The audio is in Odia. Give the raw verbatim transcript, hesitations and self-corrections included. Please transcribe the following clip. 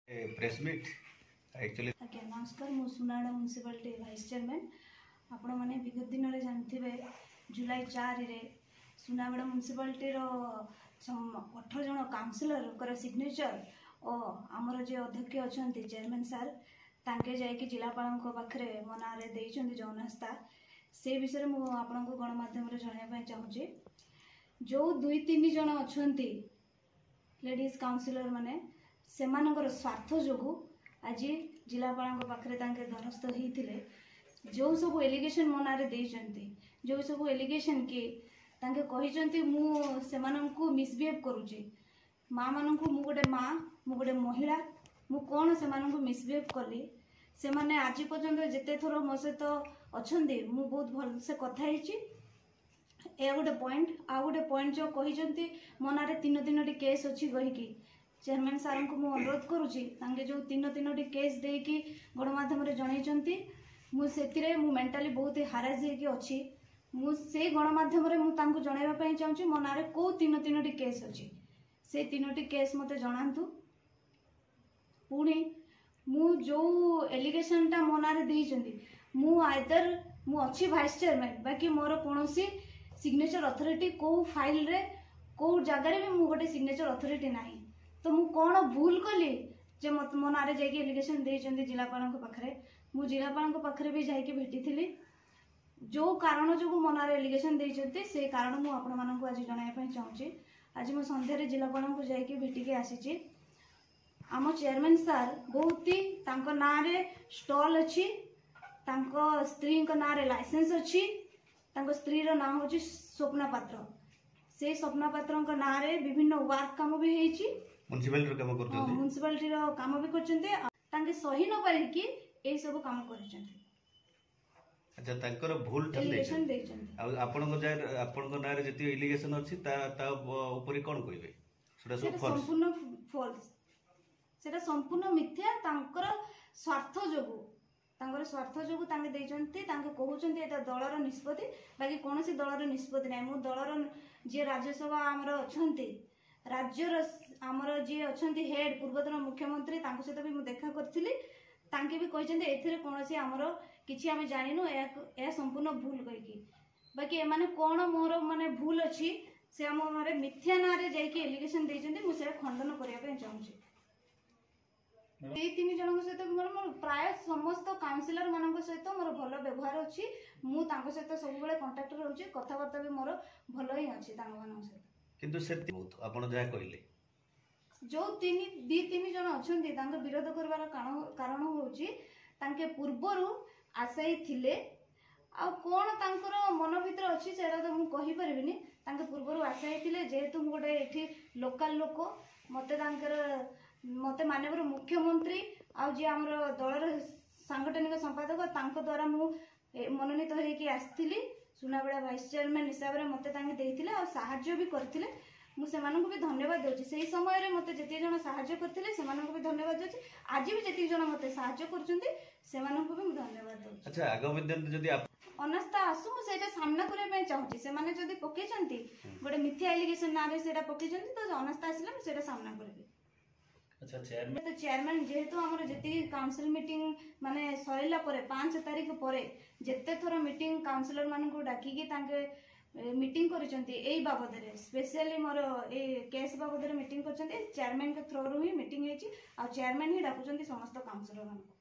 ପ୍ରେସ୍ ମିଟ୍ ଆକ୍ଚୁଆଲି ଆଜ୍ଞା ନମସ୍କାର ମୁଁ ସୁନାବେଡ଼ା ମ୍ୟୁନିସିପାଲିଟି ଭାଇସ୍ ଚେୟାରମ୍ୟାନ୍ ଆପଣମାନେ ବିଗତ ଦିନରେ ଜାଣିଥିବେ ଜୁଲାଇ ଚାରିରେ ସୁନାବେଡ଼ା ମ୍ୟୁନିସିପାଲିଟିର ଅଠର ଜଣ କାଉନସିଲରଙ୍କର ସିଗ୍ନେଚର ଓ ଆମର ଯିଏ ଅଧ୍ୟକ୍ଷ ଅଛନ୍ତି ଚେୟାରମ୍ୟାନ୍ ସାର୍ ତାଙ୍କେ ଯାଇକି ଜିଲ୍ଲାପାଳଙ୍କ ପାଖରେ ମୋ ନାଁରେ ଦେଇଛନ୍ତି ଯେଉଁ ଅନାସ୍ଥା ସେ ବିଷୟରେ ମୁଁ ଆପଣଙ୍କୁ ଗଣମାଧ୍ୟମରେ ଜଣାଇବା ପାଇଁ ଚାହୁଁଛି ଯେଉଁ ଦୁଇ ତିନି ଜଣ ଅଛନ୍ତି ଲେଡ଼ିଜ୍ କାଉନସିଲର ମାନେ ସେମାନଙ୍କର ସ୍ୱାର୍ଥ ଯୋଗୁଁ ଆଜି ଜିଲ୍ଲାପାଳଙ୍କ ପାଖରେ ତାଙ୍କେ ଦ୍ୱାରସ୍ଥ ହେଇଥିଲେ ଯେଉଁ ସବୁ ଏଲିଗେସନ୍ ମୋ ନାଁରେ ଦେଇଛନ୍ତି ଯେଉଁ ସବୁ ଏଲିଗେସନ୍ କି ତାଙ୍କେ କହିଛନ୍ତି ମୁଁ ସେମାନଙ୍କୁ ମିସବିହେଭ୍ କରୁଛି ମାଆମାନଙ୍କୁ ମୁଁ ଗୋଟେ ମା ମୁଁ ଗୋଟେ ମହିଳା ମୁଁ କ'ଣ ସେମାନଙ୍କୁ ମିସବିହେଭ୍ କଲି ସେମାନେ ଆଜି ପର୍ଯ୍ୟନ୍ତ ଯେତେ ଥର ମୋ ସହିତ ଅଛନ୍ତି ମୁଁ ବହୁତ ଭଲସେ କଥା ହେଇଛି ଏହା ଗୋଟେ ପଏଣ୍ଟ ଆଉ ଗୋଟେ ପଏଣ୍ଟ ଯେଉଁ କହିଛନ୍ତି ମୋ ନାଁରେ ତିନି ତିନୋଟି କେସ୍ ଅଛି କହିକି ଚେୟାରମ୍ୟାନ୍ ସାର୍ଙ୍କୁ ମୁଁ ଅନୁରୋଧ କରୁଛି ତାଙ୍କେ ଯେଉଁ ତିନି ତିନୋଟି କେସ୍ ଦେଇକି ଗଣମାଧ୍ୟମରେ ଜଣେଇଛନ୍ତି ମୁଁ ସେଥିରେ ମୁଁ ମେଣ୍ଟାଲି ବହୁତ ହାରାସ ହେଇକି ଅଛି ମୁଁ ସେଇ ଗଣମାଧ୍ୟମରେ ମୁଁ ତାଙ୍କୁ ଜଣାଇବା ପାଇଁ ଚାହୁଁଛି ମୋ ନାଁରେ କେଉଁ ତିନି ତିନୋଟି କେସ୍ ଅଛି ସେଇ ତିନୋଟି କେସ୍ ମୋତେ ଜଣାନ୍ତୁ ପୁଣି ମୁଁ ଯେଉଁ ଏଲିଗେସନଟା ମୋ ନାଁରେ ଦେଇଛନ୍ତି ମୁଁ ଆଇଦର ମୁଁ ଅଛି ଭାଇସ୍ ଚେୟାରମ୍ୟାନ୍ ବାକି ମୋର କୌଣସି ସିଗ୍ନେଚର ଅଥରିଟି କେଉଁ ଫାଇଲରେ କେଉଁ ଜାଗାରେ ବି ମୁଁ ଗୋଟେ ସିଗ୍ନେଚର ଅଥରିଟି ନାହିଁ ତ ମୁଁ କ'ଣ ଭୁଲ କଲି ଯେ ମୋତେ ମୋ ନାଁରେ ଯାଇକି ଏଲିଗେସନ ଦେଇଛନ୍ତି ଜିଲ୍ଲାପାଳଙ୍କ ପାଖରେ ମୁଁ ଜିଲ୍ଲାପାଳଙ୍କ ପାଖରେ ବି ଯାଇକି ଭେଟିଥିଲି ଯେଉଁ କାରଣ ଯୋଗୁଁ ମୋ ନାଁରେ ଏଲିଗେସନ ଦେଇଛନ୍ତି ସେ କାରଣ ମୁଁ ଆପଣମାନଙ୍କୁ ଆଜି ଜଣାଇବା ପାଇଁ ଚାହୁଁଛି ଆଜି ମୁଁ ସନ୍ଧ୍ୟାରେ ଜିଲ୍ଲାପାଳଙ୍କୁ ଯାଇକି ଭେଟିକି ଆସିଛି ଆମ ଚେୟାରମ୍ୟାନ୍ ସାର୍ ବହୁତ ହି ତାଙ୍କ ନାଁରେ ଷ୍ଟଲ୍ ଅଛି ତାଙ୍କ ସ୍ତ୍ରୀଙ୍କ ନାଁରେ ଲାଇସେନ୍ସ ଅଛି ତାଙ୍କ ସ୍ତ୍ରୀର ନାଁ ହେଉଛି ସ୍ୱପ୍ନା ପାତ୍ର ସେଇ ସ୍ୱପ୍ନା ପାତ୍ରଙ୍କ ନାଁରେ ବିଭିନ୍ନ ୱାର୍କ କାମ ବି ହେଇଛି ମ୍ୟୁନିସିପାଲିଟିର କାମ କରୁଛନ୍ତି ମ୍ୟୁନିସିପାଲିଟିର କାମ ବି କରିଛନ୍ତି ତାଙ୍କେ ସହି ନ ପାରିକି ଏଇ ସବୁ କାମ କରିଛନ୍ତି ଆଚ୍ଛା ତାଙ୍କର ଭୁଲ ଟା ଏଲିଗେସନ ଦେଇଛନ୍ତି ଦେଇଛନ୍ତି ଆଉ ଆପଣଙ୍କ ଯାଏ ଆପଣଙ୍କ ନାଁରେ ଯେତିକି ଇଲିଗେସନ ଅଛି ତା ତା ଉପରେ କ'ଣ କହିବେ ସେଟା ସବୁ ସେଟା ଫଲ୍ସ ସମ୍ପୂର୍ଣ୍ଣ ଫଲ୍ସ ସେଟା ସମ୍ପୂର୍ଣ୍ଣ ମିଥ୍ୟା ତାଙ୍କର ସ୍ୱାର୍ଥ ଯୋଗୁଁ ତାଙ୍କର ସ୍ୱାର୍ଥ ଯୋଗୁଁ ତାଙ୍କେ ଦେଇଛନ୍ତି ତାଙ୍କେ କହୁଛନ୍ତି ଏଇଟା ଦଳର ନିଷ୍ପତ୍ତି ବାକି କୌଣସି ଦଳର ନିଷ୍ପତ୍ତି ନାହିଁ ମୁଁ ଦଳର ଯିଏ ରାଜ୍ୟସଭା ଆମର ଅଛନ୍ତି ରାଜ୍ୟର ଆମର ଯିଏ ଅଛନ୍ତି ହେଡ୍ ପୂର୍ବତନ ମୁଖ୍ୟମନ୍ତ୍ରୀ ତାଙ୍କ ସହିତ ବି ମୁଁ ଦେଖା କରିଥିଲି ତାଙ୍କେ ବି କହିଛନ୍ତି ଏଥିରେ କୌଣସି ଆମର କିଛି ଆମେ ଜାଣିନୁ ଏହାକୁ ଏହା ସମ୍ପୂର୍ଣ୍ଣ ଭୁଲ କହିକି ବାକି ଏମାନେ କ'ଣ ମୋର ମାନେ ଭୁଲ ଅଛି ସେ ଆମ ନାଁରେ ମିଥ୍ୟା ନାଁରେ ଯାଇକି ଏଲିଗେସନ ଦେଇଛନ୍ତି ମୁଁ ସେଇଟା ଖଣ୍ଡନ କରିବା ପାଇଁ ଚାହୁଁଛି ଏଇ ତିନି ଜଣଙ୍କ ସହିତ ମୋର ମୋର ପ୍ରାୟ ସମସ୍ତ କାଉନସିଲର ମାନଙ୍କ ସହିତ ମୋର ଭଲ ବ୍ୟବହାର ଅଛି ମୁଁ ତାଙ୍କ ସହିତ ସବୁବେଳେ କଣ୍ଟାକ୍ଟରେ ରହୁଛି କଥାବାର୍ତ୍ତା ବି ମୋର ଭଲ ହିଁ ଅଛି ତାଙ୍କମାନଙ୍କ ସହିତ କିନ୍ତୁ ସେତିକି ବହୁତ ଆପଣ ଯାହା କହିଲେ ଯୋଉ ତିନି ଦି ତିନି ଜଣ ଅଛନ୍ତି ତାଙ୍କ ବିରୋଧ କରିବାର କାରଣ କାରଣ ହଉଛି ତାଙ୍କେ ପୂର୍ବରୁ ଆଶାୟୀ ଥିଲେ ଆଉ କ'ଣ ତାଙ୍କର ମନ ଭିତରେ ଅଛି ସେଇଟା ତ ମୁଁ କହିପାରିବିନି ତାଙ୍କେ ପୂର୍ବରୁ ଆଶାୟୀ ଥିଲେ ଯେହେତୁ ମୁଁ ଗୋଟେ ଏଠି ଲୋକାଲ ଲୋକ ମୋତେ ତାଙ୍କର ମୋତେ ମାନ୍ୟବର ମୁଖ୍ୟମନ୍ତ୍ରୀ ଆଉ ଯିଏ ଆମର ଦଳର ସାଙ୍ଗଠନିକ ସମ୍ପାଦକ ତାଙ୍କ ଦ୍ୱାରା ମୁଁ ଏ, ମନୋନୀତ ହେଇକି ଆସିଥିଲି ସୁନାବେଡ଼ା ଭାଇସ୍ ଚେୟାରମ୍ୟାନ୍ ହିସାବରେ ମୋତେ ତାଙ୍କେ ଦେଇଥିଲେ ଆଉ ସାହାଯ୍ୟ ବି କରିଥିଲେ ମୁଁ ସେମାନଙ୍କୁ ବି ଧନ୍ୟବାଦ ଦେଉଛି ସେଇ ସମୟରେ ମୋତେ ଯେତିକି ଜଣ ସାହାଯ୍ୟ କରିଥିଲେ ସେମାନଙ୍କୁ ବି ଧନ୍ୟବାଦ ଦେଉଛି ଆଜି ବି ଯେତିକି ଜଣ ମୋତେ ସାହାଯ୍ୟ କରୁଛନ୍ତି ସେମାନଙ୍କୁ ବି ମୁଁ ଧନ୍ୟବାଦ ଦେଉଛି ଆଚ୍ଛା ଆଗାମୀ ଦିନରେ ଯଦି ଆପ- ଅନାସ୍ଥା ଆସୁ ମୁଁ ସେଇଟା ସାମ୍ନା କରିବା ପାଇଁ ଚାହୁଁଛି ସେମାନେ ଯଦି ପକେଇଛନ୍ତି ଗୋଟେ ମିଥ୍ୟା ଏଲିଗେସନ ନାଁରେ ସେଇଟା ପକେଇଛନ୍ତି ତ ଅନାସ୍ଥା ଆସିଲେ ମୁଁ ସେଇଟା ସାମ୍ନା କରିବି ଆଚ୍ଛା ଚେୟାରମ୍ୟାନ୍ ତ ଚେୟାରମ୍ୟାନ୍ ଯେହେତୁ ଆମର ଯେତିକି କାଉନସିଲ ମିଟିଂ ମାନେ ସରିଲା ପରେ ପାଞ୍ଚ ତାରିଖ ପରେ ଯେତେ ଥର ମିଟିଂ କାଉନସିଲର ମାନଙ୍କୁ ଡାକିକି ତାଙ୍କେ ମିଟିଂ କରିଛନ୍ତି ଏଇ ବାବଦରେ ସ୍ପେଶିଆଲି ମୋର ଏଇ କେସ୍ ବାବଦରେ ମିଟିଂ କରିଛନ୍ତି ଚେୟାରମ୍ୟାନଙ୍କ ଥ୍ରୋରୁ ହିଁ ମିଟିଂ ହେଇଛି ଆଉ ଚେୟାରମ୍ୟାନ୍ ହିଁ ଡାକୁଛନ୍ତି ସମସ୍ତ କାଉନସିଲର ମାନଙ୍କୁ